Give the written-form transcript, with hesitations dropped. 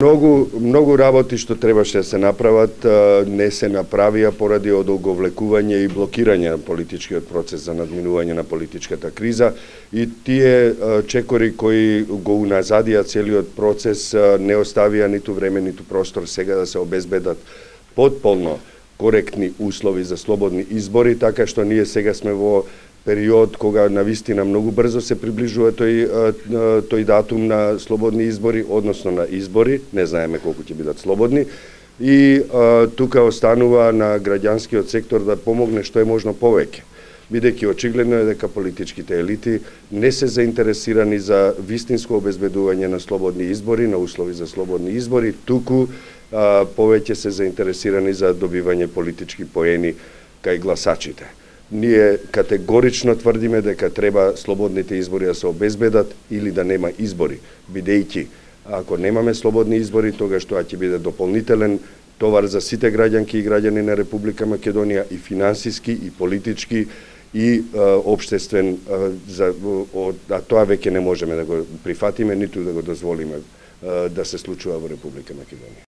Многу работи што требаше да се направат не се направија поради одолговлекување и блокирање на политичкиот процес за надминување на политичката криза и тие чекори кои го уназадија целиот процес не оставија ниту време ниту простор сега да се обезбедат потполно коректни услови за слободни избори, така што ние сега сме во период кога навистина многу брзо се приближува тој датум на слободни избори, односно на избори, не знаеме колку ќе бидат слободни, и тука останува на граѓанскиот сектор да помогне што е можно повеќе, бидејќи очигледно е дека политичките елити не се заинтересирани за вистинско обезбедување на слободни избори, на услови за слободни избори, туку повеќе се заинтересирани за добивање политички поени кај гласачите. Ние категорично тврдиме дека треба слободните избори да се обезбедат или да нема избори, бидејќи ако немаме слободни избори, тогаш тоа ќе биде дополнителен товар за сите граѓанки и граѓани на Република Македонија и финансиски, и политички, и општествен, а тоа веќе не можеме да го прифатиме, ниту да го дозволиме да се случува во Република Македонија.